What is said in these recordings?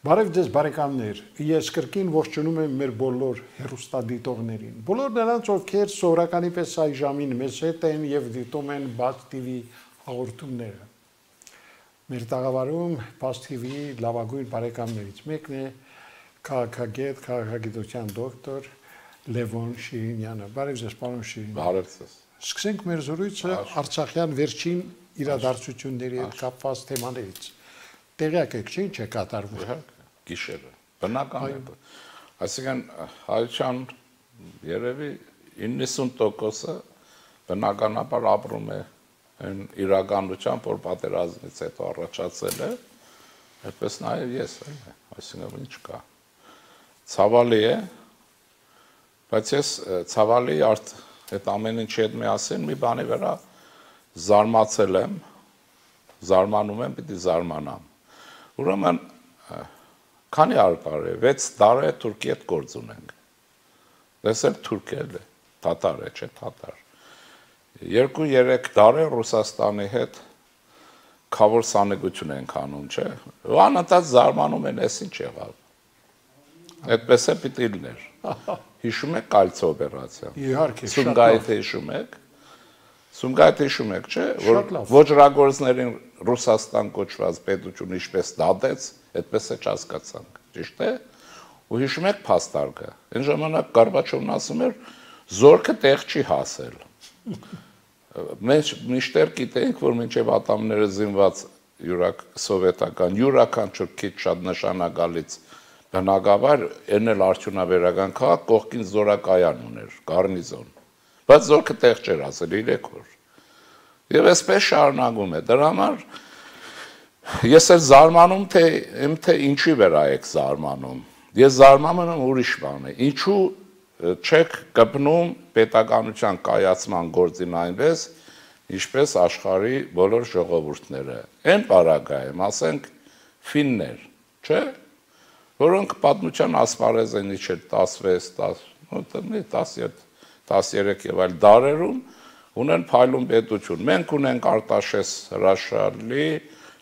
Բարև ձեզ բարեկամներ, ես կրկին ողջունում եմ մեր բոլոր հեռուստադիտողներին, բոլոր նրանց, ովքեր սովորականի պես այ ժամին մեզ հետ են և դիտում են Բաց TV հաղորդումները։ Մեր տաղավարում Բաց TV լավագույն բարեկամներից մեկն է քաղաքագետ, քաղաքագիտության դոկտոր Լևոն Շիրինյանը։ Բարև ձեզ, պարոն Շիրինյան։ Բարև ձեզ։ Սկսենք մեր զրույցը արցախյան վերջին իրադարձությունների հետ կապված թեմաներից։ Տեղյակ եք, չէ՞, ինչ է կատարվում։ Գիշերը, բնական է։ Այսինքն հայության երևի 90%-ը բնականաբար ապրում է այն իրականությամբ, որ պատերազմից հետո առաջացել է, այդպես նաև ես, այսինքն ինչ կա։ Ցավալի է, բայց ես ցավալի այդ ամեն ինչի հետ միասին մի բանի վրա զարմացել եմ, զարմանում եմ, պիտի զարմանամ։ Ուրեմն քանի տարի է, 6 տարի է Թուրքիի հետ գործ ունենք։ Դեսել թուրք է, թաթար է, չէ թաթար։ 2-3 տարի Ռուսաստանի հետ քավոր սանեկություն ենք անում, չէ։ Ու անընդհատ զարմանում են, էս ինչ եղավ։ Այդպես է պիտի լիներ։ Հիշում եք Կալցո օպերացիան։ Իհարկե, Սումգայիթը հիշում եք։ Սումգայիթը հիշում եք, չէ, որ ոչրագործներին Ռուսաստան կոչված պետություն ինչպես դատեց, այդպես է չհասկացանք, ճիշտ է։ Ու հիշում եք փաստարկը։ Այն ժամանակ Գորբաչովն ասում էր, զորքը տեղ չի հասել։ Մենք միշտեր գիտենք, որ մինչև ատամները զինված սովետական յուրաքանչյուր քիչ շատ նշանակալից բնակավար, այն էլ արդյունաբերական քաղաք կողքին զորակայան ուներ, գառնիզոն։ Բայց զորքը տեղ չէր հասել 3 օր։ Եվ այսպես շարունակում է։ Դրա համար ես էլ զարմանում թե ինչի վրա եք զարմանում։ Ես զարմանում եմ ուրիշ բան է։ Ինչու չեք կպնում պետականության կայացման գործին այնպես, ինչպես աշխարհի բոլոր ժողովուրդները։ Այն պարագայում, ասենք, ֆիններ, չէ՞, որոնք պատմության ասպարեզ են իջել 13 եւ այլ դարերում ունեն փայլուն պետություն։ Մենք ունենք Արտաշես հրաշալի,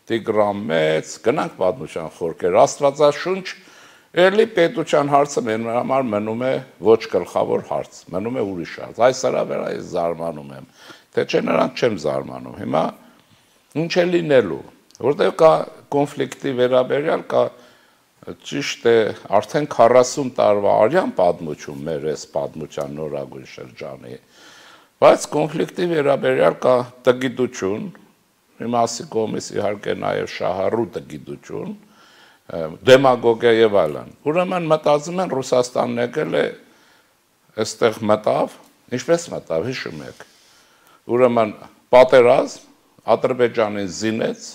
Տիգրան Մեծ, գնանք պատմության խորքեր, Աստվածաշունչ, էլի պետության հարցը մեր համար մնում է ոչ գլխավոր հարց, մնում է ուրիշ հարց։ Այս սրա վրա ես զարմանում եմ, թե չէ նրանց չեմ զարմանում։ Հիմա ինչ է լինելու, որտեղ կա կոնֆլիկտի վերաբերյալ կա ճիշտ է արդեն 40 տարվա արյան պատմություն մեր այս պատմության նորագույն շրջանի, բայց կոնֆլիկտի վերաբերյալ կա տգիտություն, մի մասի կողմից իհարկե նաև շահառու տգիտություն, դեմագոգիա եւ այլն։ Ուրեմն մտածում են Ռուսաստանն եկել է այստեղ մտավ, ինչպես մտավ, հիշում եք։ Ուրեմն պատերազմ Ադրբեջանին զինեց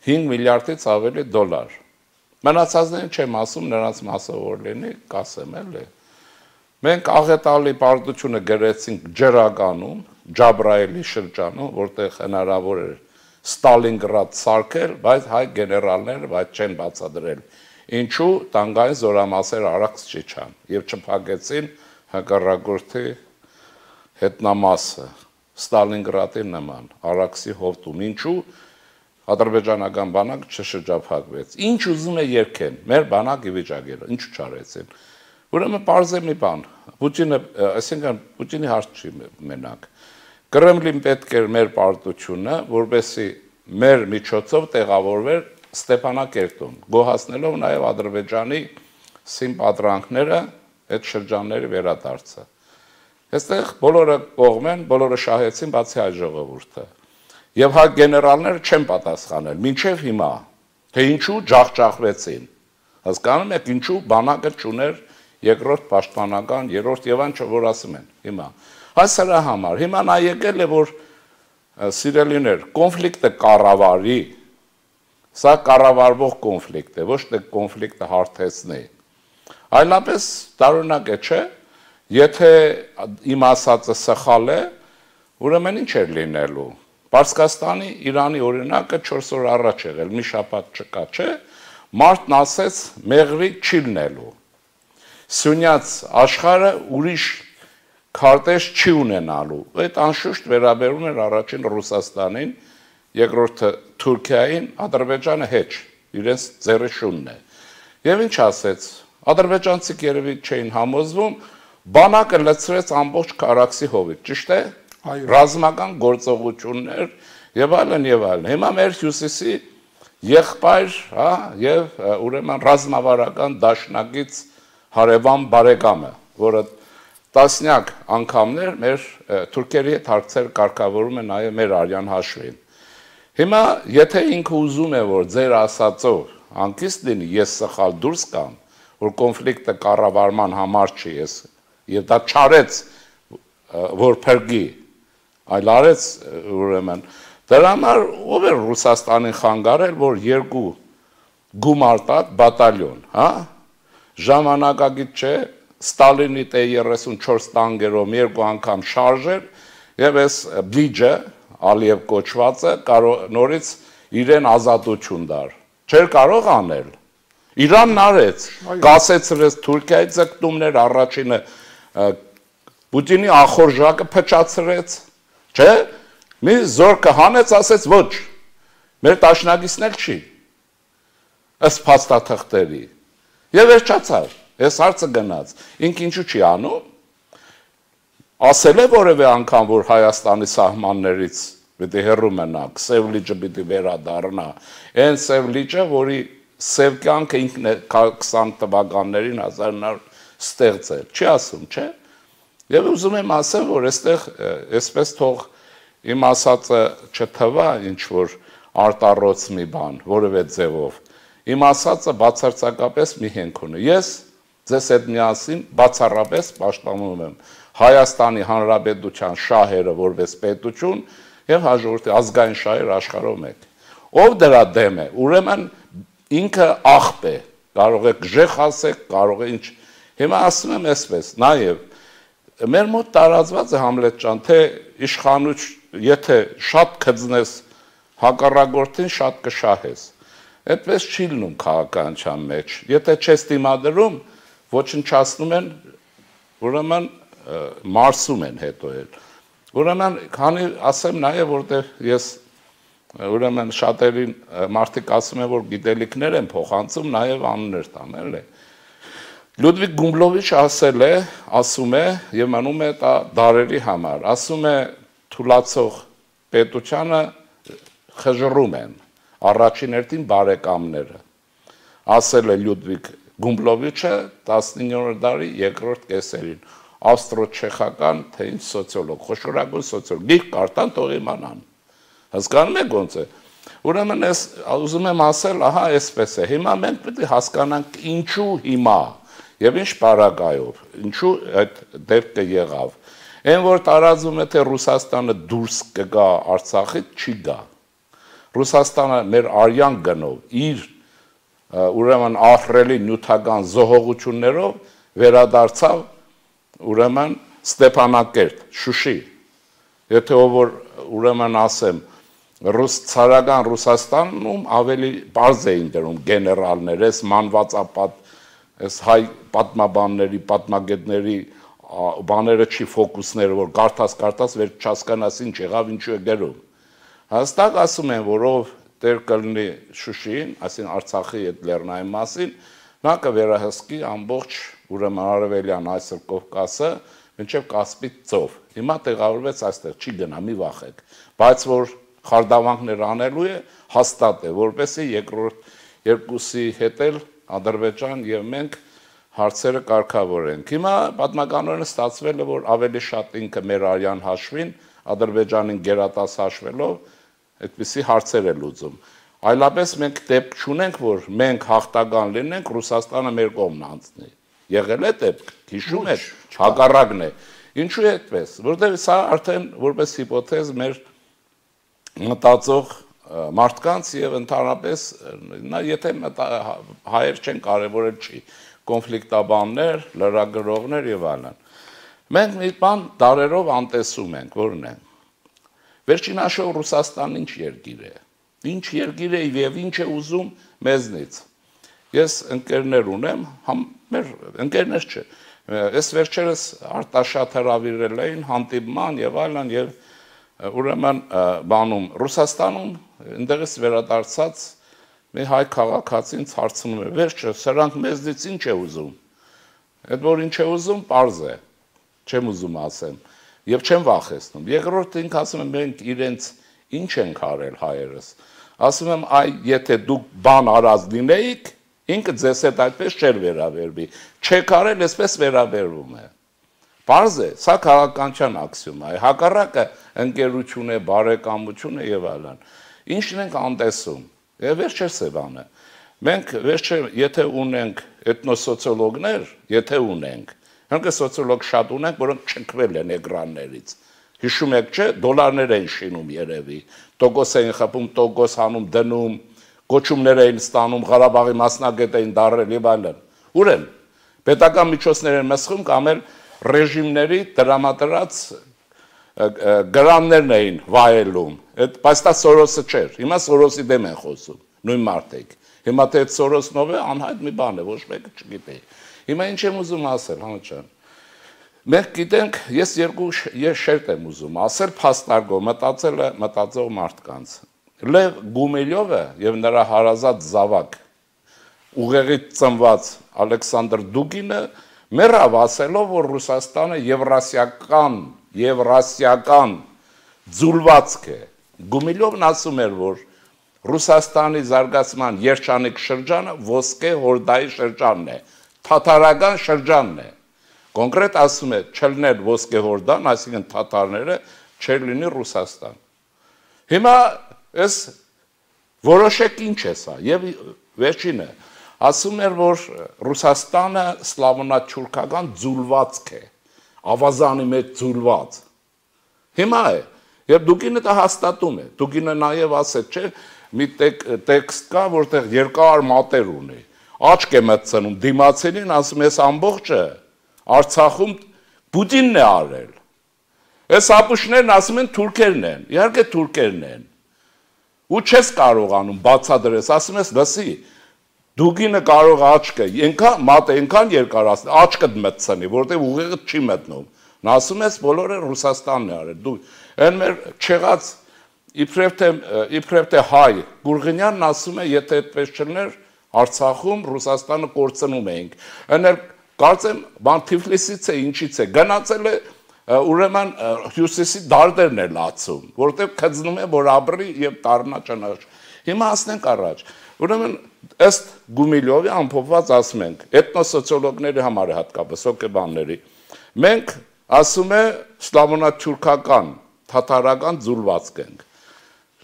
5 միլիարդից ավելի դոլար։ Մնացածներին չեմ ասում, նրանց մասը որ լինի, կասեմ էլի։ Մենք աղետալի պարտությունը գրեցինք Ջրագանում, Ջաբրայելի շրջանում, որտեղ հնարավոր էր Ստալինգրադ սարքել, բայց հայ գեներալները բայց չեն բացադրել։ Ինչու տանկային զորամասեր արաքս չիջան եւ չփակեցին հակառակորդի հետնամասը Ստալինգրադի նման արաքսի հովտում։ Ինչու ադրբեջանական բանակ չշրջափակվեց։ Ինչ ուզում է երկեն, մեր բանակի վիճակերը, ինչու չարեցին։ Ուրեմն պարզ է մի բան, Պուտինը, այսինքն Պուտինի հարց չի մենակ։ Կրեմլին պետք էր մեր պարտությունը, որպեսզի մեր միջոցով տեղավորվեր Ստեփանակերտում, գոհացնելով նաև Ադրբեջանի սիմպատրանքները այդ շրջանների վերադարձը։ Այստեղ բոլորը կողմ են, բոլորը շահեցին, բացի հայ ժողովուրդը։ Եվ հայ գեներալները չեն պատասխանել, մինչև հիմա, թե ինչու ջախջախվեցին։ Հասկանում եք, ինչու բանակը չուներ երկրորդ պաշտպանական, երրորդ եւ այն որ ասում են հիմա։ Այս սրա համար հիմա նա եկել է որ սիրելիներ, կոնֆլիկտը կառավարի, սա կառավարվող կոնֆլիկտ է, ոչ թե կոնֆլիկտը հարթեցնի։ Այլապես տարօրինակ է, չէ՞, եթե իմ ասածը սխալ է, ուրեմն ինչ էր լինելու։ Պարսկաստանի Իրանի օրինակը 4 օր առաջ եղել, մի շաբաթ չկա, չէ՞, մարդն ասեց մեղրի չի լինելու։ Սյունյաց աշխարհը ուրիշ քարտեզ չի ունենալու։ Այդ անշուշտ վերաբերում էր առաջին Ռուսաստանին, երկրորդը Թուրքիային, Ադրբեջանը հեչ, իրենց ձեռի շունն է։ Եվ ինչ ասեց, ադրբեջանցիք երևի չէին համոզվում, բանակը լցրեց ամբողջ Արաքսի հովիտ, ճիշտ է, ռազմական գործողություններ եւ այլն եւ այլն։ Հիմա մեր հյուսիսի եղբայր, հա, եւ ուրեմն ռազմավարական դաշնակից հարևան բարեկամը, որը տասնյակ անգամներ մեր թուրքերի հետ հարցեր կարգավորում է նաեւ մեր արյան հաշվին։ Հիմա եթե ինքը ուզում է որ ձեր ասածով անկիստ լինի, ես սխալ դուրս կամ, որ կոնֆլիկտը կառավարման համար չի ես, եւ դա չարեց որ փրկի, այլ արեց ուրեմն դրա համար ով է Ռուսաստանին խանգարել, որ երկու գումարտակ բատալյոն, հա, ժամանակագիտ չէ, Ստալինի T-34 տանկերով երկու անգամ շարժեր եւ այս բիջը Ալիև կոչվածը նորից իրեն ազատություն դար։ Չէր կարող անել։ Իրանն արեց, կասեցրեց Թուրքիայի ձգտումներ, առաջինը Պուտինի ախորժակը փչացրեց, չէ՞։ Մի զորքը հանեց, ասեց ոչ։ Մեր տաշնակիցն էլ չի։ Ըստ փաստաթղթերի։ Եվ վերջացավ։ Այս հարցը գնաց։ Ինք ինչու չի անում։ Ասել է որևէ անգամ, որ Հայաստանի սահմաններից պիտի հեռու մնաք, Սև լիճը պիտի վերադառնա։ Այն Սև լիճը, որի Սև կյանքը ինքն է 20 թվականներին 1900 ստեղծել։ Չի ասում, չէ՞։ Եվ ուզում եմ ասեմ, որ այստեղ այսպես թող իմ ասածը չթվա ինչ որ արտառոց մի բան, որևէ ձևով։ Իմ ասածը բացարձակապես մի հենք ունի։ Ես ձեզ հետ միասին բացառապես պաշտպանում եմ Հայաստանի Հանրապետության շահերը որպես պետություն եւ հաջորդի ազգային շահեր աշխարհով մեկ։ Ով դրա դեմ է, ուրեմն ինքը աղբ է, կարող է գժեղ ասեք, կարող է ինչ։ Հիմա ասում եմ այսպես, նաեւ մեր մոտ տարածված է Համլետ ջան, թե իշխանուց եթե շատ կծնես հակառակորդին շատ կշահես։ Այդպես չի լինում քաղաքականության մեջ։ Եթե չես դիմադրում, ոչնչացնում են, ուրեմն մարսում են հետո էլ։ Ուրեմն քանի ասեմ նաև որտեղ ես ուրեմն շատերին մարդիկ ասում են որ գիտելիքներ են փոխանցում, նաև անուններ տամ էլի։ Լյուդվիգ Գումբլովիչը ասում է եւ մնում է դա դարերի համար, ասում է թուլացող պետությանը խժռում են առաջին հերթին բարեկամները։ Ասել է Լյուդվիգ Գումբլովիչը 19-րդ դարի երկրորդ կեսերին, ավստրո-չեխական թե ինչ սոցիոլոգ, խոշորագույն սոցիոլոգ, գիրք կարդան թող իմանան։ Հասկանում եք ոնց է։ Ուրեմն ես ուզում եմ ասել, ահա այսպես է։ Հիմա մենք պետք է հասկանանք ինչու հիմա եւ ինչ պարագայով, ինչու այդ դեպքը եղավ։ Այն որ տարածում է թե Ռուսաստանը դուրս կգա Արցախից, չի գա։ Ռուսաստանը մեր արյան գնով իր ուրեմն ահռելի նյութական զոհողություններով վերադարձավ ուրեմն Ստեփանակերտ, Շուշի։ Եթե ով որ ուրեմն ասեմ ցարական Ռուսաստանում ավելի բարձ էին դրում գեներալներ, այս մանվածապատ, այս հայ պատմաբանների, պատմագետների բաները չի ֆոկուսները, որ գարտած վերջ չհասկանաս ինչ եղավ, ինչու է գրում։ Հաստատ ասում են, որով դեր կլինի Շուշիին, այսինքն Արցախի այդ լեռնային մասին, նա կվերահսկի ամբողջ ուրեմն արևելյան այսօր Կովկասը, մինչև Կասպից ծով։ Հիմա տեղավորվեց այստեղ, չի գնա, մի վախեք, բայց որ խարդավանքներ անելու է, հաստատ է, որպեսզի երկրորդ երկուսի հետ էլ Ադրբեջան եւ մենք հարցերը կարգավորենք։ Հիմա պատմականորեն ստացվել է, որ ավելի շատ ինքը մեր արյան հաշվին, Ադրբեջանին գերատաս հաշվելով, այդպիսի հարցեր է լուծում։ Այլապես մենք դեպք չունենք, որ մենք հաղթական լինենք, Ռուսաստանը մեր կողմն անցնի։ Եղել է դեպք, հիշում եք, հակառակն է։ Ինչու է այդպես, որտեղ սա արդեն որպես հիպոթեզ մեր մտածող մարդկանց եւ ընդհանրապես եթե հայեր չեն կարևորել չի կոնֆլիկտաբաններ, լրագրողներ եւ այլն։ Մենք մի բան դարերով անտեսում ենք, որն է։ Վերջին հաշվով Ռուսաստանն ինչ երկիր է։ Ինչ երկիր է եւ ինչ է ուզում մեզնից։ Ես ընկերներ ունեմ, մեր ընկերներ չէ։ Այս վերջերս Արտաշատ հրավիրել էին հանդիպման եւ այլն եւ ուրեմն բանում Ռուսաստանում այնտեղից վերադարձած մի հայ քաղաքացին հարցնում է, վերջը սրանք մեզնից ինչ է ուզում։ Այդ որ ինչ է ուզում, պարզ է, չեմ ուզում ասեմ, եւ չեմ վախեցնում։ Երկրորդը ինք ասում եմ, մենք իրենց ինչ ենք արել հայերս։ Ասում եմ, այ եթե դուք բան արած լինեիք, ինքը ձեզ հետ այդպես չէր վերաբերվի։ Չեք արել, այսպես վերաբերվում է։ Պարզ է, սա քաղաքականության աքսիոմ է, հակառակը ընկերություն է, բարեկամություն է եւ այլն։ Ինչն ենք անտեսում։ Եվ վերջը Սևանը։ Մենք վերջը եթե ունենք էթնոսոցիոլոգներ, եթե ունենք, հենց սոցիոլոգ շատ ունենք, որոնք չքվել են էկրաններից։ Հիշում եք, չէ, դոլարներ են շինում երևի, տոկոս էին խփում, տոկոս հանում, դնում, գոչումներ էին ստանում, Ղարաբաղի մասնագետ էին դարել եւ այլն։ Ուր են։ Պետական միջոցներ են մսխում կամ էլ ռեժիմների դրամատրած գրաններն էին վայելում, բայց դա Սորոսը չէր, հիմա Սորոսի դեմ են խոսում, նույն մարդիկ, հիմա թե այդ Սորոսն ով է, անհայտ մի բան է, ոչ մեկը չգիտի, հիմա ինչ եմ ուզում ասել, Հանո ջան, մենք գիտենք, ես երկու շերտ եմ ուզում ասել, փաստարկով, մտածող մարդկանց, Լև Գումիլյովը և նրա հարազատ զավակ, ուղեղից ծնված Ալեքսանդր Դուգինը մեռավ ասելով, որ Ռուսաստանը եվրասիական ձուլվածք է։ Գումիլյովն ասում էր, որ Ռուսաստանի զարգացման երջանիկ շրջանը ոսկե հորդայի շրջանն է, թաթարական շրջանն է։ Կոնկրետ ասում է, չլներ ոսկե հորդան, այսինքն թաթարները, չեր լինի Ռուսաստան։ Հիմա այս որոշեք ինչ է սա, եւ վերջինը ասում էր, որ Ռուսաստանը սլավոնաչուրքական ձուլվածք է, ավազանի մեջ ձուլված։ Հիմա է, եւ Դուգինը դա հաստատում է, Դուգինը նաեւ ասեց, չէ, մի տեքստ կա, որտեղ երկար մատեր ունի, աչք է մտցնում, դիմացինին ասում է, այս ամբողջը Արցախում Պուտինն է արել։ Այս ապուշներն ասում են թուրքերն են, իհարկե թուրքերն են։ Ու չես կարողանում բացադրես, ասում ես, լսի, Դուգինը կարող աչքը, մատը ենքան երկար ասել, աչքդ մտցնի, որտեղ ուղեղը չի մտնում։ Նա ասում ես, բոլորը Ռուսաստանն է արել։ Այն մեր չեղած իբրև թե հայ Գուրգենյանն ասում է, եթե այդպես չլներ, Արցախում Ռուսաստանը կորցնում էինք։ Այն էլ կարծեմ, բան Թիֆլիսից է, ինչից է, գնացել է ուրեմն հյուսիսի դարդերն է լացում, որտեղ քծնում է, որ ապրի եւ դառնա ճանաչ։ Հիմա ասենք առաջ։ Ուրեմն ըստ Գումիլյովի ամփոփված ասում ենք, էթնոսոցիոլոգների համար հատկապես հոգեբանների, մենք ասում է սլավոնաչուրքական, թաթարական ձուլվածք ենք։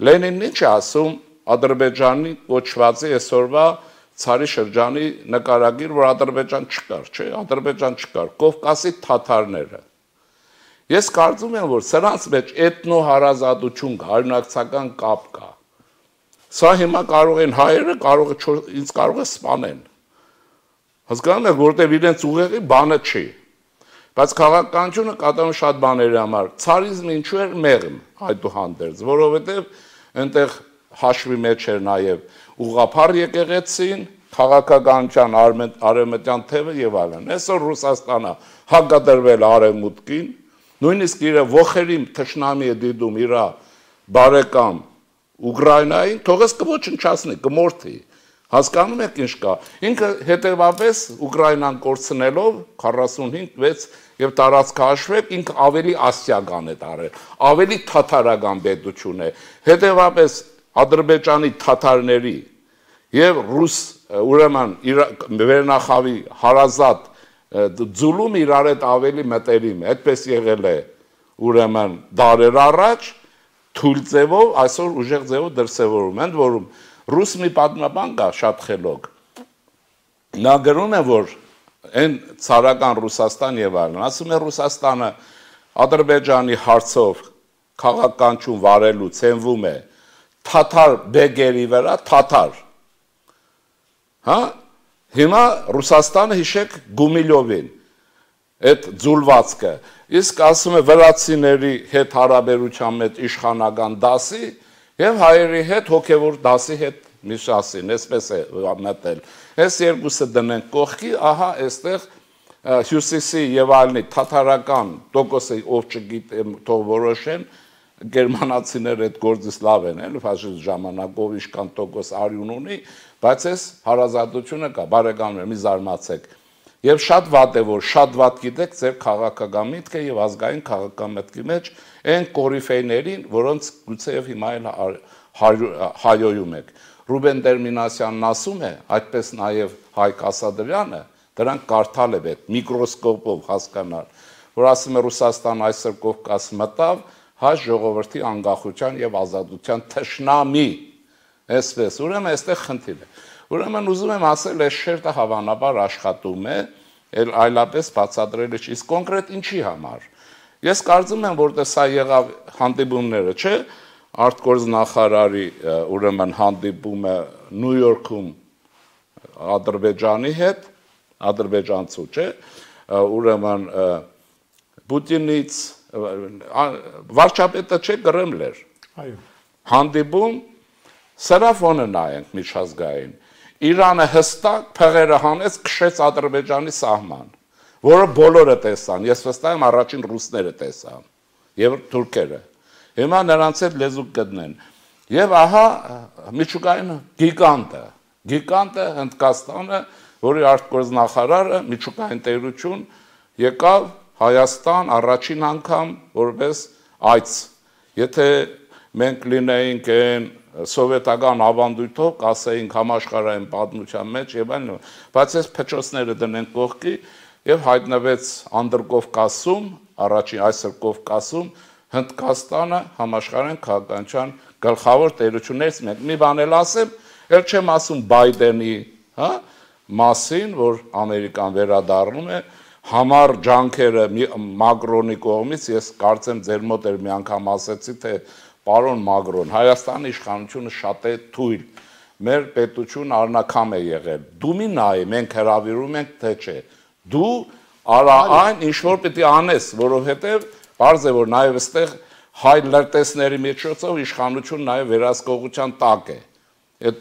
Լենինն ինչ է ասում Ադրբեջանի կոչվածի այսօրվա ցարի շրջանի նկարագիր, որ Ադրբեջան չկար, չէ, Ադրբեջան չկար, Կովկասի թաթարները։ Ես կարծում եմ, որ սրանց մեջ էթնոհարազատություն կա, հայրենակցական կապ կա։ Սա հիմա կարող են հայերը, ինձ կարող է սպանեն։ Հասկանում եք, որտեղ իրենց ուղեղի բանը չի։ Բայց քաղաքականությունը կատարում շատ բաների համար։ Ցարիզմը ինչու էր մեղմ այդուհանդերձ, որովհետև այնտեղ հաշվի մեջ էր նաև ուղղափառ եկեղեցին, քաղաքականության արևմտյան թևը եւ այլն։ Այսօր Ռուսաստանը հակադրվել արևմուտքին, նույնիսկ իր ոխերի թշնամի է դիտում իր բարեկամ Ուկրաինային, թողես կոչնչացնի, կմորթի։ Հասկանում եք ինչ կա։ Ինքը հետևաբար Ուկրաինան կորցնելով 45-6 եւ տարածքահաշվեք ինքը ավելի ասիական է տարել, ավելի թաթարական պետություն է։ Հետևաբար Ադրբեջանի թաթարների եւ ռուս ուրեմն վերնախավի հարազատ ձուլում իրար հետ ավելի մտերիմ է։ Այդպես եղել է ուրեմն դարեր առաջ թույլ ձևով, այսօր ուժեղ ձևով դրսևորում են, որում ռուս մի պատմաբան կա շատ խելոք։ Նա գրում է, որ այն ցարական Ռուսաստան եւ այլն, ասում է Ռուսաստանը Ադրբեջանի հարցով քաղաքականություն վարելուց հենվում է թաթար բեգերի վրա, թաթար։ Հա? Հիմա Ռուսաստանը հիշեք Գումիլյովին, այդ ձուլվածքը, իսկ ասում է վրացիների հետ հարաբերության մեջ իշխանական դասի եւ հայերի հետ հոգեվոր դասի հետ միշասին, այսպես է մտել։ Այս երկուսը դնենք կողքի, ահա այստեղ հյուսիսի եւ այլնի թաթարական տոկոսը ով չգիտեմ, թող որոշեն, գերմանացիները այդ գործից լավ են, էլ ֆաշիստ ժամանակով իշքան տոկոս արյուն ունի, բայց այս հարազատությունը կա, բարեկամներ, մի զարմացեք։ Եվ շատ վատ է, որ շատ վատ գիտեք ձեր քաղաքական միտքը եւ ազգային քաղաքական մտքի մեջ այն կորիֆեյներին, որոնց գուցեև հիմա էլ հայոյում եք։ Ռուբեն Տերմինասյանն ասում է, այդպես նաեւ Հայկ Ասադրյանը, դրանք կարդալ է պետք միկրոսկոպով հասկանալ, որ ասում է Ռուսաստան այսօր Կովկաս մտավ հայ ժողովրդի անկախության եւ ազատության թշնամի, այսպես, ուրեմն այստեղ խնդիր է։ Ուրեմն ուզում եմ ասել, այս շերտը հավանաբար աշխատում է, այլապես բացատրել չի, իսկ կոնկրետ ինչի համար։ Ես կարծում եմ, որտեղ սա եղավ հանդիպումները, չէ, արտգործնախարարի ուրեմն հանդիպումը Նյու Յորքում Ադրբեջանի հետ, ադրբեջանցու, չէ, ուրեմն Պուտինից վարչապետը չէ Կրեմլեր։ Այո։ Հանդիպում սրա ֆոնը նայենք միջազգային։ Իրանը հստակ փղերը հանեց, քշեց Ադրբեջանի սահման, որը բոլորը տեսան, ես վստահ եմ առաջին ռուսները տեսան եւ թուրքերը։ Հիմա նրանց հետ լեզու գտնեն։ Եվ ահա միջուկային գիգանտը Հնդկաստանը, որի արտգործնախարարը միջուկային տերություն եկավ Հայաստան առաջին անգամ որպես այց։ Եթե մենք լինեինք այն սովետական ավանդույթով, կասեինք համաշխարհային պատմության մեջ եւ այլն, բայց այս փչոցները դնենք կողքի եւ հայտնվեց Անդրկովկասում, առաջին այսօր Կովկասում Հնդկաստանը համաշխարհային քաղաքականության գլխավոր տերություններից մեկն։ Մի բան էլ ասեմ, ել չեմ ասում Բայդենի, հա, մասին, որ Ամերիկան վերադառնում է, համառ ջանքերը Մակրոնի կողմից, ես կարծեմ ձեր մոտ էլ մի անգամ ասեցի, թե պարոն Մակրոն, Հայաստանի իշխանությունը շատ է թույլ, մեր պետությունը առնակամ է եղել, դու մի նայի, մենք հրավիրում ենք, թե չէ, դու արա այն, ինչ որ պիտի անես, որովհետև պարզ է, որ նաև այստեղ հայ լրտեսների միջոցով իշխանություն նաև վերահսկողության տակ է, այդ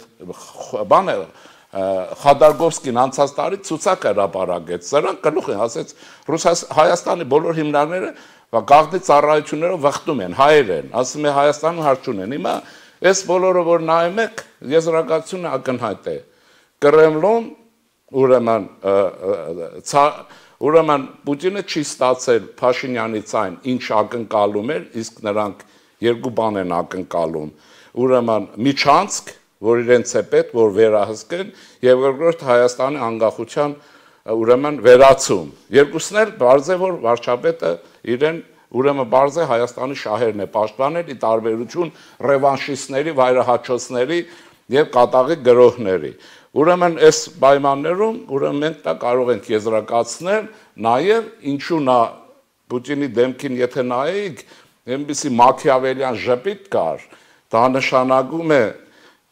բանը Խադարգովսկին անցած տարի ցուցակ հրապարակեց, սրանք գլուխ են ասեց Հայաստանի բոլոր հիմնարկները գաղտնի ծառայություններով վխտում են, հայեր են, ասում է Հայաստանում հարց չունեն։ Հիմա այս բոլորը որ նայում եք, եզրակացությունը ակնհայտ է։ Կրեմլում ուրեմն Պուտինը չի ստացել Փաշինյանից այն, ինչ ակնկալում էր, իսկ նրանք երկու բան են ակնկալում։ Ուրեմն միջանցք, որ իրենց է պետք, որ վերահսկեն, եւ երկրորդ Հայաստանի անկախության ուրեմն վերացում։ Երկուսն էլ բարձ է, որ վարչապետը իրեն ուրեմն բարձ է Հայաստանի շահերն է պաշտպանել, ի տարբերություն ռևանշիստների, վայրահաչոցների եւ կատաղի գրոհների։ Ուրեմն այս պայմաններում ուրեմն մենք դա կարող ենք եզրակացնել, նաեւ ինչու նա Պուտինի դեմքին եթե նայեք, այնպիսի մաքիավելյան ժպիտ կար, դա նշանակում է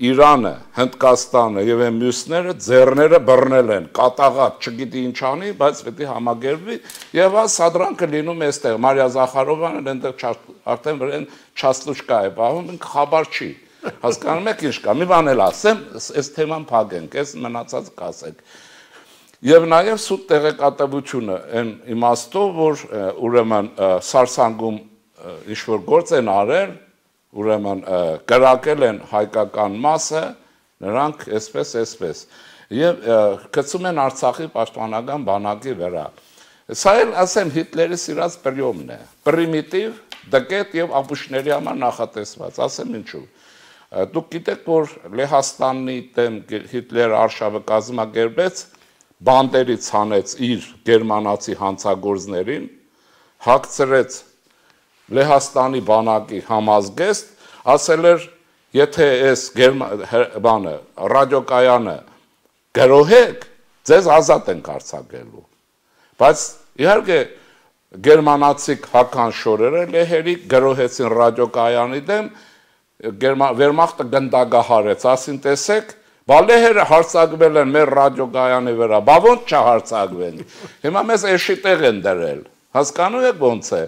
Իրանը, Հնդկաստանը եւ այն մյուսները ձեռները բռնել են, կատաղած, չգիտի ինչ անի, բայց պետք է համագերբվի եւ այս սադրանքը լինում է այստեղ։ Մարիա Զախարովյանը այնտեղ արդեն վրան չաստուշկա է պահում, ինք խաբար չի։ Հասկանում եք ինչ կա։ Մի բան էլ ասեմ, այս թեման փակենք, այս մնացած կասեք։ Եվ նաեւ սուտ տեղեկատվությունը այն իմաստով, որ ուրեմն Սարսանգում ինչ որ գործ են արել, ուրեմն կրակել են հայկական մասը, նրանք այսպես, եւ գցում են Արցախի պաշտպանական բանակի վրա։ Սա էլ ասեմ Հիտլերի սիրած պրիոմն է, պրիմիտիվ, դկետ եւ ապուշների համար նախատեսված, ասեմ ինչու։ Դուք գիտեք, որ Լեհաստանի դեմ Հիտլերը արշավը կազմակերպեց, բանդերից հանեց իր գերմանացի հանցագործներին, հագցրեց Լեհաստանի բանակի համազգեստ, ասել էր, եթե այս բանը ռադիոկայանը գրոհեք, ձեզ ազատ ենք արձակելու։ Բայց իհարկե գերմանացի հական շորերը լեհերի գրոհեցին ռադիոկայանի դեմ, Վերմախտը գնդագահարեց, ասին տեսեք, բա լեհերը հարձակվել են մեր ռադիոկայանի վրա, բա ոնց չհարձակվեն։ Հիմա մեզ էշի տեղ են դրել։ Հասկանում եք ոնց է։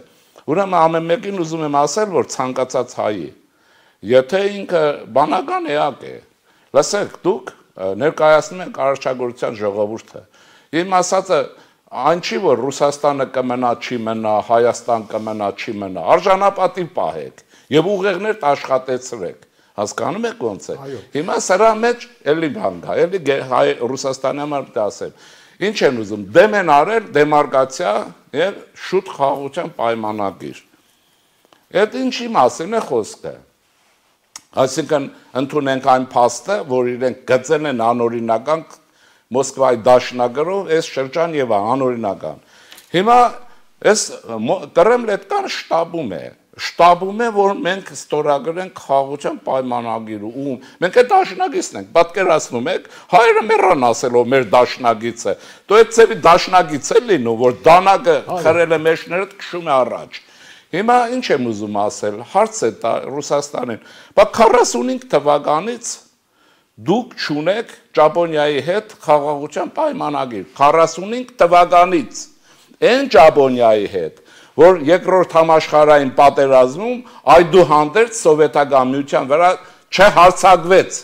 Ուրեմն ամեն մեկին ուզում եմ ասել, որ ցանկացած հայի, եթե ինքը բանական էակ է, լսեք, դուք ներկայացնում եք Արարչագործության ժողովուրդը։ Իմ ասածը այն չի, որ Ռուսաստանը կմնա, չի մնա, Հայաստան կմնա, չի մնա, արժանապատիվ պահեք եւ ուղեղներ աշխատեցրեք, հասկանում եք ոնց է։ Հիմա սրա մեջ էլի բան կա, էլի Ռուսաստանի համար դասեմ։ Ինչ են ուզում, դեմ են արել դեմարկացիա եւ շուտ խաղաղության պայմանագիր։ Այդ ինչի մասին է խոսքը։ Այսինքն ընդունենք այն փաստը, որ իրենք գծել են անօրինական Մոսկվայի դաշնագրով այս շրջան եւ անօրինական։ Հիմա այս Կրեմլետկան շտաբում է, որ մենք ստորագրենք խաղաղության պայմանագիրը ու մենք այդ դաշնագիծն ենք, պատկերացնում եք, հայերը մեռան ասելով մեր դաշնագիծը։ Դու այդ ծեվի դաշնագիծ է լինում, որ դանակը խրել է մեջները քշում է առաջ։ Հիմա ինչ եմ ուզում ասել, հարց է տա Ռուսաստանին, բա 45 թվականից դուք չունեք Ճապոնիայի հետ խաղաղության պայմանագիր, 45 թվականից, այն Ճապոնիայի հետ, որ երկրորդ համաշխարհային պատերազմում այդուհանդերձ սովետական միության վրա չհարձակվեց,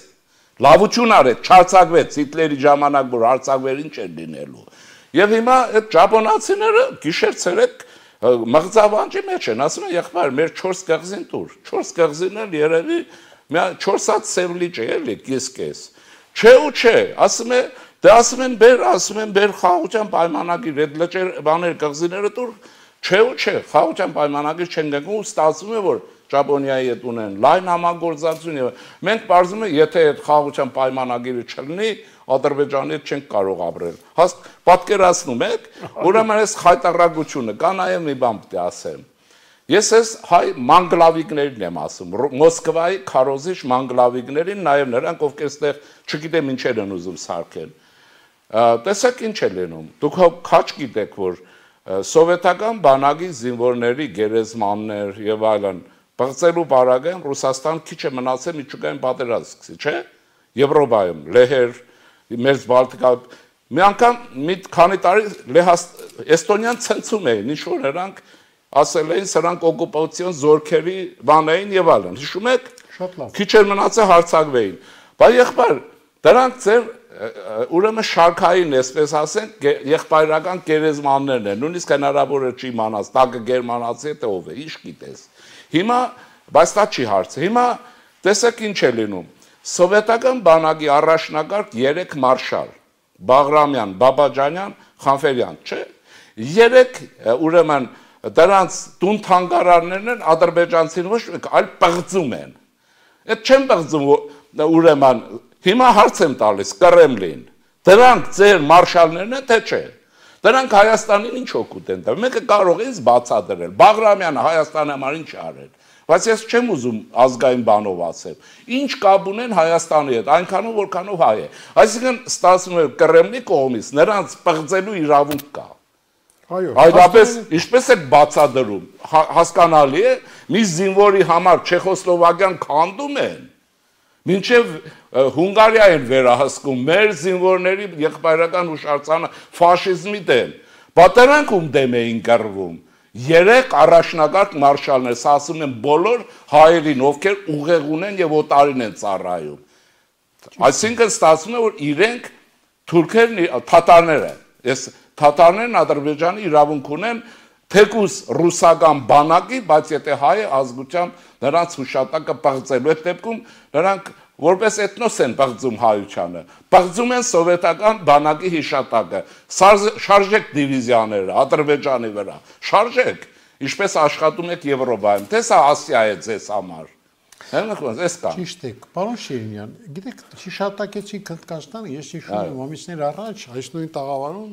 լավություն արեց, չհարձակվեց, Հիտլերի ժամանակ որ հարձակվեր ինչ էր լինելու։ Եւ հիմա այդ ճապոնացիները գիշեր-ցերեկ մղձավանջի մեջ են, ասում են եղբայր, մեր 4 կղզին տուր, 4 կղզին էլ երևի 4 հատ սև լիճ է, էլի կես։ Չէ ու չէ, ասում են բեր խաղաղության պայմանագիր, այդ լճեր բաներ կղզիները տուր, չէ ու չէ, խաղաղության պայմանագիր չեն գնքում ու ստացվում է, որ Ճապոնիայի հետ ունեն լայն համագործակցություն եւ մենք բարձում ենք, եթե այդ խաղաղության պայմանագիրը չլինի, Ադրբեջանի հետ չենք կարող ապրել։ Պատկերացնում եք, ուրեմն այս խայտարակությունը կա նաև մի բան պետք է ասեմ։ Ես այս հայ մանգլավիկներին եմ ասում, Մոսկվայի քարոզիչ մանգլավիկներին, նաև նրանք, ովքեր այստեղ չգիտեմ ինչեր են ուզում սարքել։ Տեսեք ինչ է լինում։ Դուք քաչ գիտեք, որ սովետական բանակի զինվորների գերեզմաններ եւ այլն բացելու բարագան Ռուսաստան քիչ է մնացել միջուկային պատերազմ սկսի, չէ՞։ Եվրոպայում լեհեր Մերձ Բալտիկա մի անգամ մի քանի տարի Էստոնիան ցնցում էին, ինչ որ նրանք ասել էին սրանք օկուպացիոն զորքերի բան էին եւ այլն։ Հիշում եք։ Շատ լավ։ Քիչ էր մնացել հարցակվեին։ Բայց եղբայր, դրանք ձեր ուրեմն շարքային, այսպես ասենք, եղբայրական գերեզմաններն են։ Նույնիսկ հնարավոր է չի իմանաս, տակը գերմանացի է թե ով է, ինչ գիտես։ Հիմա, բայց դա չի հարցը։ Հիմա տեսեք ինչ է լինում։ Սովետական բանակի առաջնակարգ 3 մարշալ Բաղրամյան, Բաբաջանյան, Խանֆերյան, չէ։ 3 ուրեմն դրանց տուն թանգարաններն են ադրբեջանցին ոչ մեկ, այլ պղծում են։ Այդ չեն պղծում ուրեմն հիմա հարց եմ տալիս Կրեմլին։ Դրանք ձեր մարշալներն են թե չէ։ Դրանք Հայաստանին ինչ օգուտ են տվել։ Մեկը կարող է ինձ բացատրել։ Բաղրամյանը Հայաստանի համար ինչ արել։ Բայց ես չեմ ուզում ազգային բանով ասել։ Ինչ կապ ունեն Հայաստանի հետ, այնքանով որքանով հայ է։ Այսինքն ստացվում է Կրեմլի կողմից նրանց պղծելու իրավունք կա։ Այո։ Այդապես ինչպես է բացադրում, հասկանալի է, մի զինվորի համար Չեխոսլովակիան քանդում են, մինչև Հունգարիա են վերահսկում, մեր զինվորների եղբայրական հուշարձանը ֆաշիզմի դեմ, բատրանք ում դեմ էին կռվում, 3 առաջնակարգ մարշալներ, սա ասում են բոլոր հայերին, ովքեր ուղեղ ունեն եւ օտարին են ծառայում։ Այսինքն ստացվում է, որ իրենք թուրքերն, թաթարները, այս թաթարներն Ադրբեջանի իրավունք ունեն թեկուս ռուսական բանակի, բայց եթե հայ ազգությամբ նրանց հուշատակը պղծելու այդ դեպքում նրանք որպես էթնոս են պղծում հայությանը, պղծում են սովետական բանակի հիշատակը, շարժեք դիվիզիաները Ադրբեջանի վրա, շարժեք, ինչպես աշխատում եք Եվրոպայում, թե սա Ասիա է ձեզ համար։ Ճիշտ եք, պարոն Շիրինյան, գիտեք, հիշատակեցիք Հնդկաստանը, ես հիշում եմ ամիսներ առաջ, այս նույն տաղավարում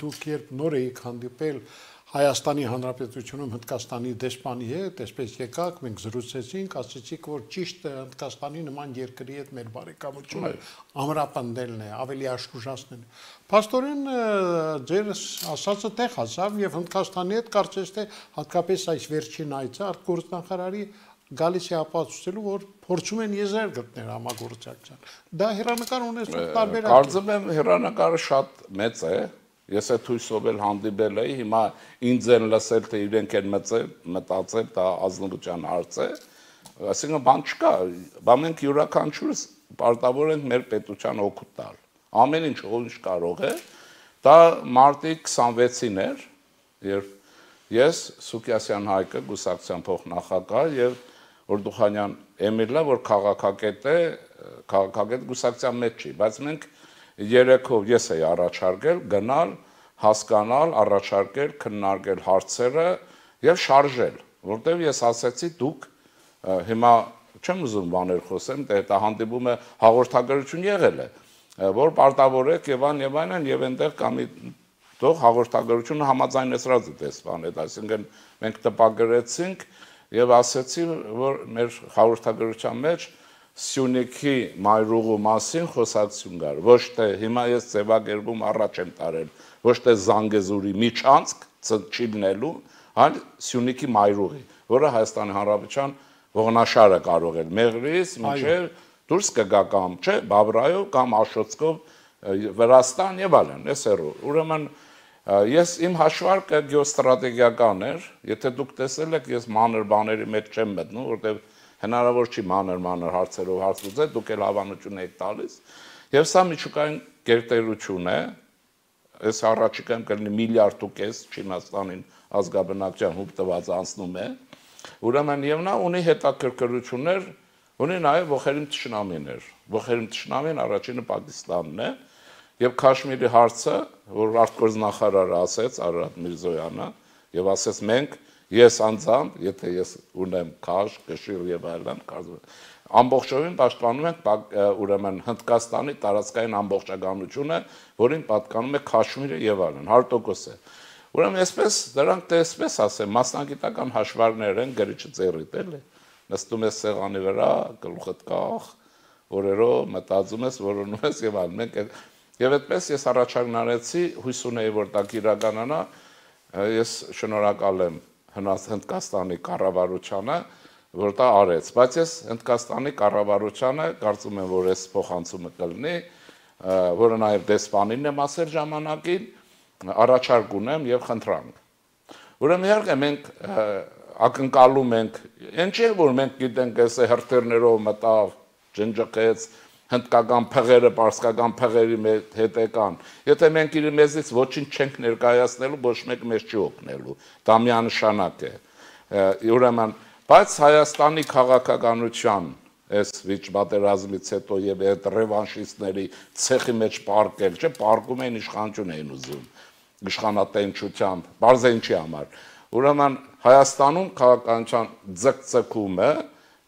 դուք երբ նոր էիք հանդիպել Հայաստանի Հանրապետությունում Հնդկաստանի դեսպանի հետ, այսպես եկաք, մենք զրուցեցինք, ասացիք, որ ճիշտ Հնդկաստանի նման երկրի հետ մեր բարեկամությունը ամրապնդելն է, ավելի աշխուժացնելն է։ Փաստորեն ձեր ասածը տեղ հասավ եւ Հնդկաստանի հետ կարծես թե հատկապես այս վերջին այցը արտգործնախարարի գալիս է ապացուցելու, որ փորձում են եզրեր գտնել համագործակցության։ Դա հերանեկար ունեցող տարբերակ է։ Կարծում եմ հերանեկարը շատ մեծ է։ Ես այդ հույսով էլ հանդիպել էի, հիմա ինձ են լսել, թե իրենք են մտածել, դա ազնվության հարց է, այսինքն բան չկա, բա մենք յուրաքանչյուրս պարտավոր ենք մեր պետության օգուտ տալ, ամեն ինչ ով ինչ կարող է, Դա մարտի 26-ին էր, երբ ես Սուկիասյան Հայկը գուսակցության փոխնախագահ եւ Օրդուխանյան Էմիլը, որ քաղաքագետ է, քաղաքագետ գուսակցության մեջ չի, բայց մենք երեքով ես էի առաջարկել գնալ, հասկանալ, առաջարկել, քննարկել հարցերը եւ շարժել, որտեւ ես ասացի դուք հիմա չեմ ուզում բաներ խոսեմ, դա հանդիպումը հաղորդագրություն եղել է, որ պարտավոր եք եւ այլն եւ այնտեղ կամի դող հաղորդագրությունը համաձայնեցրած է դեսպանետ, այսինքն մենք տպագրեցինք եւ ասեցի, որ մեր հաղորդագրության մեջ Սյունիքի մայրուղու մասին խոսակցություն կար, ոչ թե հիմա ես ձևակերպում առաջ եմ տարել, ոչ թե Զանգեզուրի միջանցք չի լինելու, այլ Սյունիքի մայրուղի, որը Հայաստանի Հանրապետության ողնաշարը կարող է Մեղրիից մինչև դուրս կգա կամ չէ, Բաբրայով կամ Աշոտսկով Վրաստան եւ այլն, էս էրու։ Ուրեմն ես իմ հաշվարկը գեոստրատեգիական էր, եթե դուք տեսել եք, ես մանր բաների մեջ չեմ մտնում, որտեղ հնարավոր չի մանր հարցերով հարց լուծել, դուք էլ հավանություն եք տալիս։ Եվ սա միջուկային գերտերություն է, այս առաջիկայում կլինի 1.5 միլիարդ Չինաստանին ազգաբնակչության հուբ տված անցնում է։ Ուրեմն եւ նա ունի հետաքրքրություններ, ունի նաեւ ողերիմ թշնամիներ։ Ողերիմ թշնամին առաջինը Պակիստանն է եւ Քաշմիրի հարցը, որ արտգործնախարարը ասեց Արարատ Միրզոյանը եւ ասեց մենք ես անձամբ, եթե ես ունեմ քաշ, կշիռ եւ այլն, ամբողջովին պաշտպանում ենք ուրեմն Հնդկաստանի տարածքային ամբողջականությունը, որին պատկանում է Քաշմիրը եւ այլն, 100% է։ Ուրեմն այսպես դրանք տեսպես ասեմ, մասնագիտական հաշվարկներ են, գրիչը ծերիտ էլի։ Նստում ես սեղանի վրա, գլուխդ կախ, օրերով մտածում ես, որոնում ես եւ այլն։ Մենք եւ այդպես ես առաջարկն արեցի, հույս ունեի, որ դա կիրականանա, ես շնորհակալ եմ Հնդկաստանի կառավարությանը, որ դա արեց, բայց ես Հնդկաստանի կառավարությանը կարծում եմ, որ այս փոխանցումը կլինի, որը նաեւ դեսպանին եմ ասել ժամանակին, առաջարկ ունեմ եւ խնդրանք։ Ուրեմն իհարկե մենք ակնկալում ենք, ինչ է որ մենք գիտենք, այս հրթիռներով մտավ, ջնջկեց, հնդկական փղերը, պարսկական փղերի հետ եկան։ Եթե մենք իր մեզից ոչինչ չենք ներկայացնելու, ոչ մեկ մեզ չի օգնելու։ Դա միանշանակ է։ Ուրեմն, բայց Հայաստանի քաղաքականության այս վիճ-պատերազմից հետո եւ այդ ռևանշիստների ցեխի մեջ պարկել, չէ, պարկում էին իշխանություն էին ուզում, իշխանատենչությամբ, բարձենչի համար։ Ուրեմն Հայաստանում քաղաքականության ձգձգումը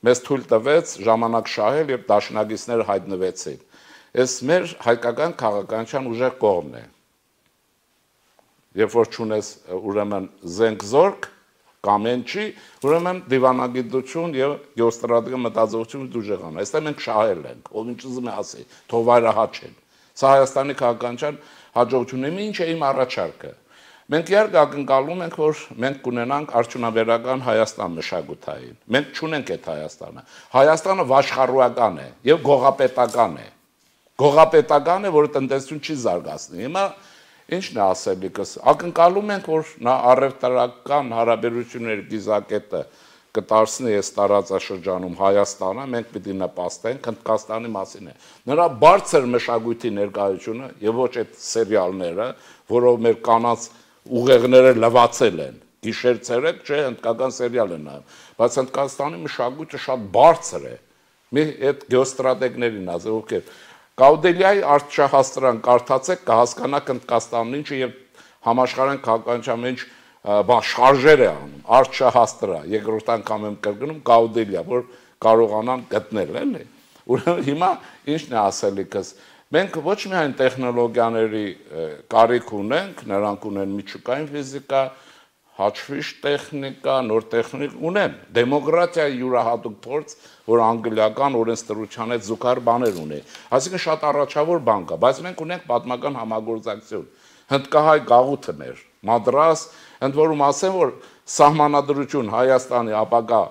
մեզ թույլ տվեց ժամանակ շահել եւ դաշնակիցները հայտնվեցին։ Այս մեր հայկական քաղաքականության ուժեղ կողմն է։ Երբ որ ճունես ուրեմն զենք-զորք կամ ինչի, ուրեմն դիվանագիտություն եւ գեոստրատեգիա մտածողություն դուժեղան։ Այստեղ մենք շահել ենք, ով ինչ ուզում է ասի, թող վայրահաչեն։ Սա Հայաստանի քաղաքականության հաջողությունն է, ինչ է իմ առաջարկը։ Մենք իհարկե ակնկալում ենք, որ մենք կունենանք արդյունաբերական Հայաստան մշակութային։ Մենք չունենք այդ Հայաստանը։ Հայաստանը վաշխառուական է եւ գողապետական է։ Գողապետական է, որը տնտեսություն չի զարգացնի։ Հիմա ինչն է ասելիքս։ Ակնկալում ենք, որ նա առևտրական հարաբերությունների գիզակետը կտարսնի այս տարածաշրջանում Հայաստանը, մենք պիտի նպաստենք, Հնդկաստանի մասին է։ Նրա բարձր մշակույթի ներկայությունը եւ ոչ այդ սերիալները, որով մեր կանանց ուղեղները լվացել են, գիշեր ցերեկ, չէ, հնդկական սերիալ են նայում, բայց Հնդկաստանի մշակույթը շատ բարձր է։ Մի այդ գեոստրատեգներին ասել, ովքեր Գաուդելիայի արտշահաստրան կարդացեք, կհասկանաք Հնդկաստանն ինչը եւ համաշխարհային քաղաքականության մեջ շարժեր է անում, արտշահաստրա, երկրորդ անգամ եմ կրկնում Գաուդելիա, որ կարողանան գտնել, էլի։ Ուրեմն հիմա ինչն է ասելիքս։ Մենք ոչ միայն տեխնոլոգիաների կարիք ունենք, նրանք ունեն միջուկային ֆիզիկա, հաշվիչ տեխնիկա, նոր տեխնիկ ունեն, դեմոկրատիայի յուրահատուկ փորձ, որ անգլիական օրենսդրության հետ զուգահեռ բաներ ունի։ Այսինքն շատ առաջավոր բան կա, բայց մենք ունենք պատմական համագործակցություն։ Հնդկահայ գաղութն էր, Մադրաս, ընդ որում ասեմ, որ սահմանադրություն Հայաստանի ապագա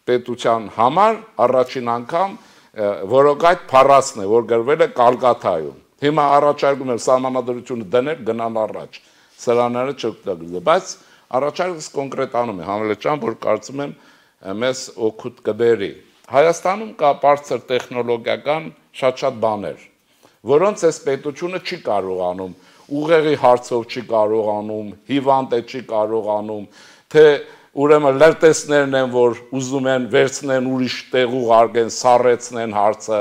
պետության համար առաջին անգամ որոգայթ փառասն է, որ գրվել է Կալկաթայում։ Հիմա առաջարկում եմ սահմանադրությունը դնել, գնալ առաջ։ Սրաները չօգտագործել, բայց առաջարկս կոնկրետանում է Համլետ, որ կարծում եմ մեզ օգուտ կբերի։ Հայաստանում կա բարձր տեխնոլոգիական շատ բաներ, որոնց այս պետությունը չի կարողանում ուղեղի հարցով չի կարողանում, հիվանդ է չի կարողանում, թե ուրեմն լրտեսներն են, որ ուզում են վերցնեն ուրիշ տեղ ուղարկեն, սառեցնեն հարցը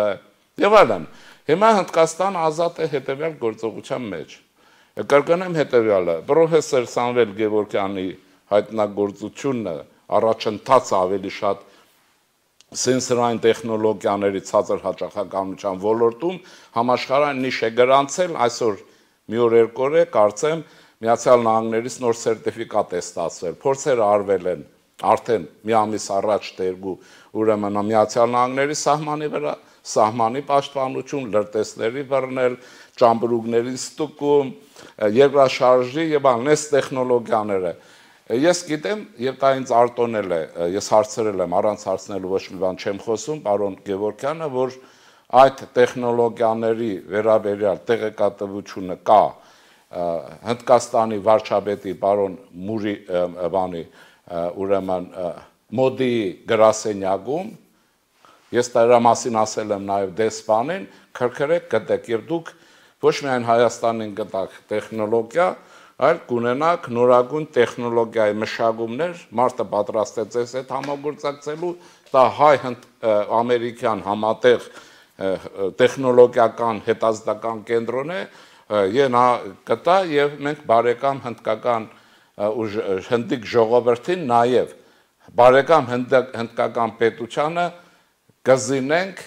եւ այլն։ Հիմա Հնդկաստանը ազատ է հետեւյալ գործողության մեջ։ Կրկնեմ հետեւյալը. պրոֆեսոր Սամվել Գևորգյանի հայտնագործությունը առաջընթաց ավելի շատ սենսորային տեխնոլոգիաների ցածր հաճախականության ոլորտում համաշխարհային նիշ է գրանցել, այսօր մի օր երկու օր է կարծեմ Միացյալ Նահանգներից նոր սերտիֆիկատ է ստացվել, փորձերը արվել են արդեն մի ամիս առաջ դերգու ուրեմն Միացյալ Նահանգների սահմանի վրա, սահմանի պաշտպանություն, լրտեսների բռնել, ճամբրուկների ստուգում, երկրաշարժի եւ այլն տեխնոլոգիաները։ Ես գիտեմ, եւ դա ինձ արտոնել է, ես հարցրել եմ, առանց հարցնելու ոչ մի բան չեմ խոսում, պարոն Գևորգյանը, որ այդ տեխնոլոգիաների վերաբերյալ տեղեկատվությունը կա Հնդկաստանի վարչապետի պարոն Մուրի բանի ուրեմն մոդի գրասենյակում, ես դրա մասին ասել եմ նաեւ դեսպանին, քրքրեք գտեք եւ դուք ոչ միայն Հայաստանին գտակ տեխնոլոգիա, այլ կունենաք նորագույն տեխնոլոգիայի մշակումներ, մարդը պատրաստ է ձեզ հետ համագործակցելու, դա հայ-ամերիկյան համատեղ տեխնոլոգիական հետազոտական կենտրոն է, նա կտա եւ մենք բարեկամ հնդկական հնդիկ ժողովրդին նաեւ բարեկամ հնդկական պետությանը կզինենք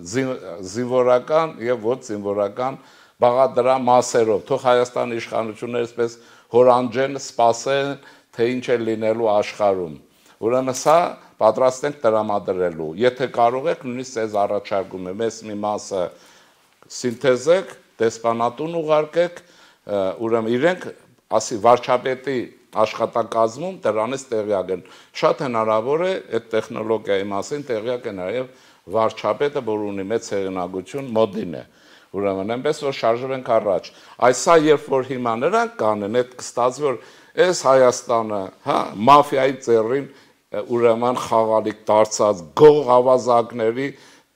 զինվորական եւ ոչ զինվորական բաղադրամ մասերով, թող Հայաստանի իշխանությունները այսպես հորանջեն, սպասեն, թե ինչ է լինելու աշխարհում։ Ուրեմն սա պատրաստ ենք տրամադրելու։ Եթե կարող եք, նույնիսկ ձեզ առաջարկում եմ, այս մի մասը սինթեզեք, դեսպանատուն ուղարկեք, ուրեմն իրենք, ասի վարչապետի աշխատակազմում դրանից տեղյակ են։ Շատ հնարավոր է այդ տեխնոլոգիայի մասին տեղյակ է նաև վարչապետը, որ ունի մեծ հեղինակություն, մոդին է։ Ուրեմն այնպես որ շարժվենք առաջ։ Այսա երբ որ հիմա նրանք կանեն, այդ կստացվի որ այս Հայաստանը, հա, մաֆիայի ծերին ուրեմն խաղալիք դարձած, գող ավազակների,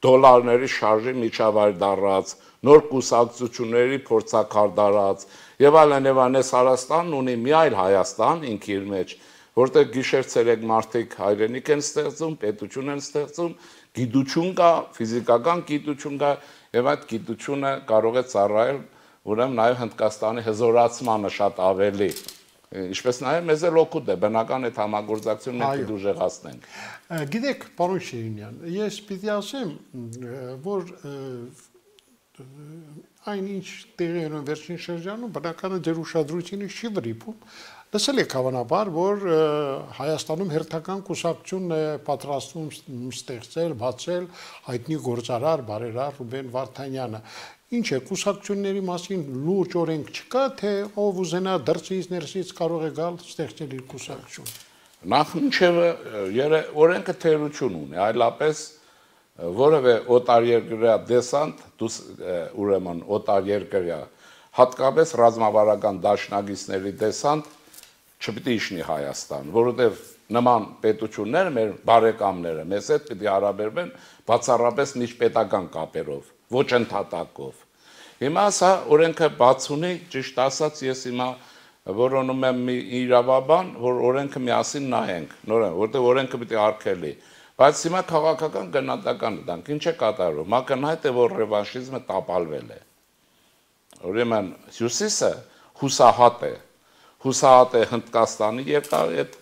դոլարների շարժի միջավայր դարձած, նոր կուսակցությունների փորձակար դարձած, եւ այլն եւ այլն, այս Հայաստանն ունի մի այլ Հայաստան ինքի իր մեջ, որտեղ գիշեր-ցերեկ մարդիկ հայրենիք են ստեղծում, պետություն են ստեղծում, գիտություն կա, ֆիզիկական գիտություն կա, եւ այդ գիտությունը կարող է ծառայել ուրեմն նաեւ Հնդկաստանի հզորացմանը շատ ավելի, ինչպես նաեւ մեզ էլ օգուտ է, բնական այդ համագործակցությունը մենք դուժեղացնենք։ Գիտեք, պարոն Շիրինյան, ես պիտի ասեմ, որ այնինչ տեղի են վերջին շրջանում, բնականը ձեր ուշադրությունը չի վրիպում, լսել եք հավանաբար, որ Հայաստանում հերթական կուսակցություն է պատրաստվում ստեղծել, բացել հայտնի գործարար, բարերար Ռուբեն Վարդանյանը։ Ինչ է, կուսակցությունների մասին լուրջ օրենք չկա, թե ով ուզենա դրսից ներսից կարող է գալ ստեղծել իր կուսակցություն։ Նախ ինչևէ օրենքը թերություն ունի, այլապես որևէ օտարերկրյա դեսանտ, ուրեմն օտարերկրյա, հատկապես ռազմավարական դաշնակիցների դեսանտ չպիտի իջնի Հայաստան, որովհետև նման պետությունները, մեր բարեկամները, մեզ հետ պիտի հարաբերվեն բացառապես միջպետական կապերով, ոչ ընդհատակով։ Հիմա սա օրենքը բաց ունի, ճիշտ ասած, ես հիմա որոնում եմ մի իրավաբան, որ օրենքը միասին նայենք, նորեն, որտեղ օրենքը պիտի արգելի։ Բայց հիմա քաղաքական գնահատական դանք, ինչ է կատարվում, ակնհայտ է, որ ռևանշիզմը տապալվել է։ Ուրեմն հյուսիսը հուսահատ է Հնդկաստանի երկար այդ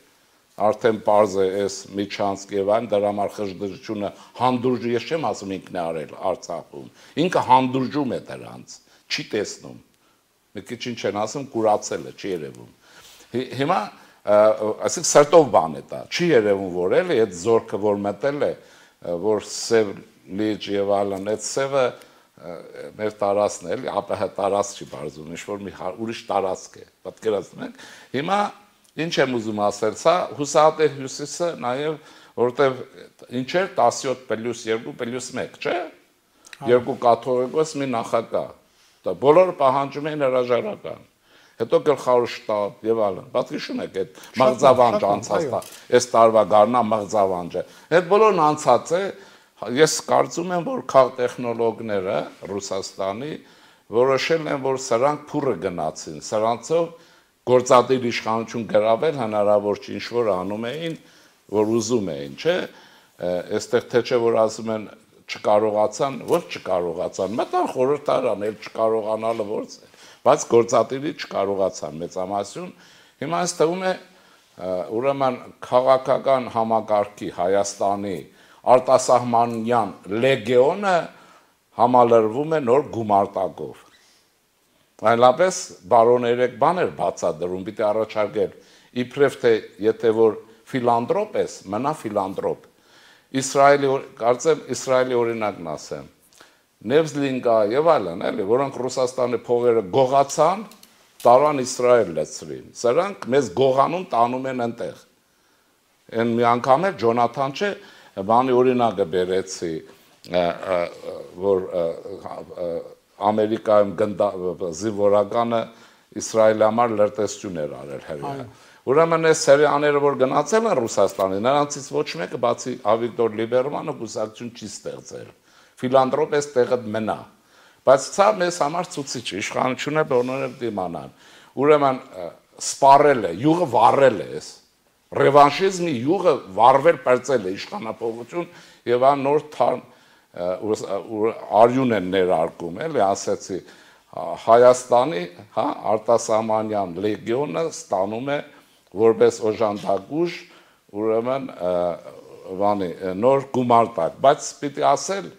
արդեն պարզ է այս Միչանսկ եւ այն դրա համար խժդժությունը հանդուրժ, ես չեմ ասում ինքն է արել Արցախում, ինքը հանդուրժում է դրանց, չի տեսնում, մի քիչ ինչ են ասում, կուրացել է, չի երևում։ Հիմա այսինքն սրտով բան է դա, չի երևում որ էլի այդ զորքը որ մտել է, որ սև լիճ եւ այլն, այդ սևը մեր տարածքն է, էլի ԱՊՀ տարածք չի բարձում, ինչ որ մի ուրիշ տարածք է, պատկերացնում եք։ Հիմա ինչ եմ ուզում ասել, սա հուսահատ է հյուսիսը նաեւ որտեվ ինչ էր 17+2+1, չէ՞։ Երկու կաթողիկոս մի նախագահ։ Դա բոլորը պահանջում են հրաժարական։ Հետո գլխավոր շտաբ եւ այլն։ Պատկերացնում եք այդ մղձավանջ անցած, այս տարվա գարնա մղձավանջը։ Այդ բոլորն անցած է, ես կարծում եմ, որ քաղաքտեխնոլոգները Ռուսաստանի որոշել են, որ սրանք փուռը գնացին, սրանցով գործադիր իշխանություն գրավել հնարավոր չի, ինչ որ անում էին, որ ուզում էին, չէ, այստեղ թե չէ որ ասում են չկարողացան, ոչ չկարողացան, մտան խորհրդարան, էլ չկարողանալը ո՞րց է, բայց գործադիրի չկարողացան մեծամասնություն, հիմա այս թվում է ուրեմն քաղաքական համակարգի Հայաստանի արտասահմանյան լեգեոնը համալրվում է նոր գումարտակով։ Այլապես բարոն երեք բաներ բացադրում, պիտի առաջարկել, իբրև թե եթե որ ֆիլանտրոպ ես, մնա ֆիլանտրոպ։ Կարծեմ Իսրայելի օրինակն ասեմ, Նևզլինգա եւ այլն, էլի, որոնք Ռուսաստանի փողերը գողացան, տարան Իսրայել լցրին։ Սրանք մեզ գողանում տանում են այնտեղ։ Այն մի անգամ էլ Ջոնաթան չէ, բանի օրինակը բերեցի, որ Ամերիկայում զինվորականը Իսրայելի համար լրտեսություն էր արել հրեա։ Ուրեմն այս հրեաները, որ գնացել են Ռուսաստանի, նրանցից ոչ մեկը բացի Ավիգդոր Լիբերմանը կուսակցություն չի ստեղծել։ Ֆիլանտրոպ էս տեղը մնա։ Բայց սա մեզ համար ցուցիչ է, իշխանությունը բոլորը դիմանան։ Ուրեմն սպառել է, յուղը վառել է էս։ Ռևանշիզմի յուղը վառվել պրծել է իշխանապողություն եւ ան նոր արյուն են ներարկում, էլի ասեցի, Հայաստանի, հա, արտասահմանյան լեգիոնը ստանում է որպես օժանդակուժ, ուրեմն նոր գումարտակ, բայց պիտի ասել,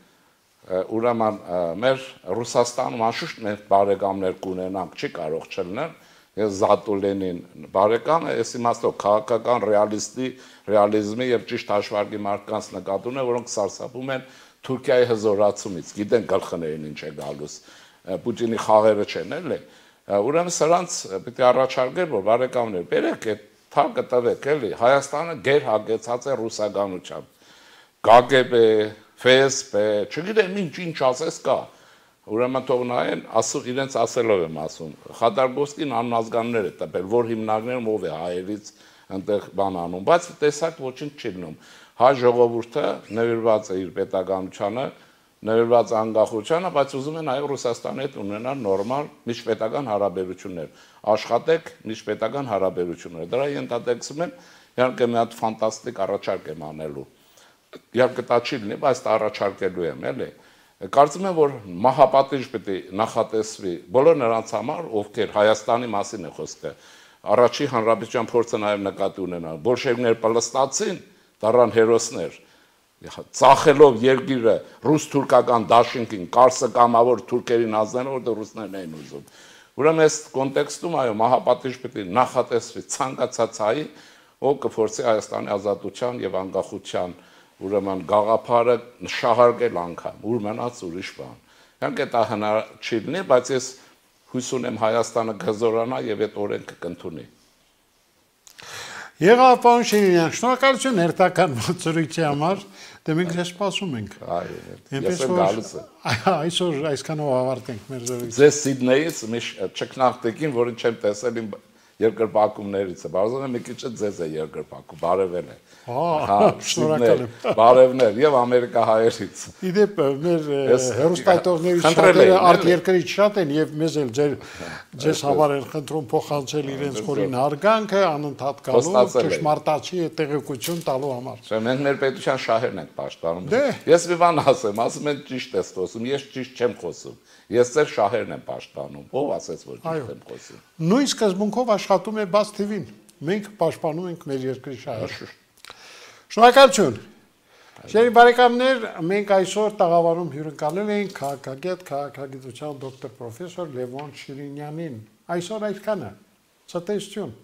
ուրեմն մեր Ռուսաստանում անշուշտ մենք բարեկամներ կունենանք, չի կարող չլինել, ես Զատուլենին բարեկամ է, ես իմաստով քաղաքական ռեալիզմի եւ ճիշտ հաշվարկի մարդկանց նկատում է, որոնք սարսափում են Թուրքիայի հզորացումից, գիտեն գլխներին ինչ է գալուս, Պուտինի խաղերը չեն, էլի, ուրեմն սրանց պիտի առաջարկել, որ բարեկամներ, բերեք այդ թակը տվեք, էլի, Հայաստանը գերհագեցած է ռուսականությամբ, ԿԳԲ, ՖՍԲ, չգիտեմ ինչ ասես կա, ուրեմն թող նայեն, իրենց ասելով եմ ասում, Խադարգովսկին անազգաններ է տպել, որ հիմնարկներում ով է հայերից այնտեղ բան անում, բայց տեսակ ոչինչ չի լինում, հայ ժողովուրդը նվիրված է իր պետականությանը, նվիրված անկախությանը, բայց ուզում են այո Ռուսաստանի հետ ունենալ նորմալ միջպետական հարաբերություններ, աշխատեք միջպետական հարաբերություններ, դրա ենթատեքստում եմ, իհարկե մի հատ ֆանտաստիկ առաջարկ եմ անելու, իհարկե դա չի լինի, բայց դա առաջարկելու եմ, էլի, կարծում եմ, որ մահապատիժ պետք է նախատեսվի բոլոր նրանց համար, ովքեր Հայաստանի մասին է խոսքը, առաջի հանրապետության փորձը նաև նկատի ունենալ, բոլշևիկներ պլստացին, դառան հերոսներ, ծախելով երկիրը ռուս-թուրքական դաշինքին, կարսը կամավոր թուրքերին ազնելով, որտեղ ռուսներն էին ուզում։ Ուրեմն այս կոնտեքստում այո մահապատիժ պետք է նախատեսվի ցանկացած հայի, ով կփորձի Հայաստանի ազատության եւ անկախության ուրեմն գաղափարը շահարկել անգամ, ուր մնաց ուրիշ բան։ Իհարկե դա հնար չի լինի, բայց ես հույս ունեմ Հայաստանը կհզորանա եւ այդ օրենքը կընդունի։ Եղավ պարոն Շիրինյան, շնորհակալություն հերթական զրույցի համար, դե մենք ձեզ սպասում ենք։ Ես եմ գալիս եմ։ Այսօր այսքանով ավարտենք մեր զրույցը։ Ձեզ Սիդնեյից մի ճկնաղտիկին, որին չեմ տեսել իմ երկրպագումներից է, բարձր է մի քիչ ձեզ է երկրպագում, բարևել է։ Շնորհակալ եմ։ Բարևներ եւ ամերիկահայերից։ Իդեպ մեր հերոստատողներից շատերը արտերկրից շատ են եւ մեզ էլ ձեզ համար են խնդրում փոխանցել իրենց խորին հարգանքը, անընդհատ գալու, ճշմարտացի տեղեկություն տալու համար։ Չէ, մենք մեր պետության շահերն ենք պաշտպանում։ Ես մի բան ասեմ են ճիշտ ես խոսում, ես ճիշտ չեմ խոսում։ Ես ձեր շահերն եմ պաշտպանում։ Ով ասեց, որ ճիշտ եմ խոսում։ Նույն սկզբունքով աշխատում է Բաց TV-ն։ Մենք պաշտպանում ենք մեր երկրի շահերը։ Շնորհակալություն։ Շերի բարեկամներ, մենք այսօր տաղավարում հյուրընկալել ենք քաղաքագետ, քաղաքագիտության դոկտոր պրոֆեսոր Լևոն Շիրինյանին։ Այսօր այդքանը։ Ցտեսություն։